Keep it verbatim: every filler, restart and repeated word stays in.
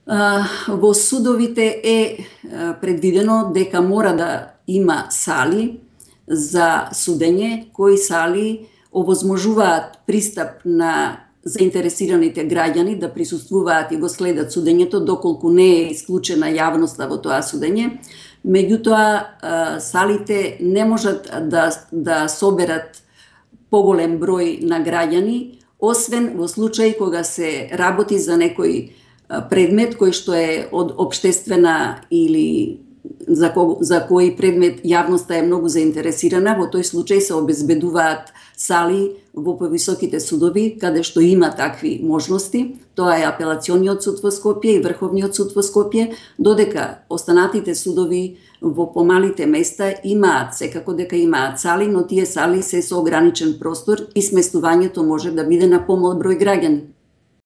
Во судовите е предвидено дека мора да има сали за судење, кои сали овозможуваат пристап на заинтересираните граѓани да присуствуваат и го следат судењето, доколку не е исклучена јавноста во тоа судење. Меѓутоа, салите не можат да, да соберат поголем број на граѓани, освен во случај кога се работи за некој предмет кој што е од општествена или за, ко, за кој предмет јавноста е многу заинтересирана. Во тој случај се обезбедуваат сали во повисоките судови, каде што има такви можности. Тоа е Апелациониот суд во Скопје и Врховниот суд во Скопје, додека останатите судови во помалите места имаат, секако дека имаат сали, но тие сали се со ограничен простор и сместувањето може да биде на помал број граѓани.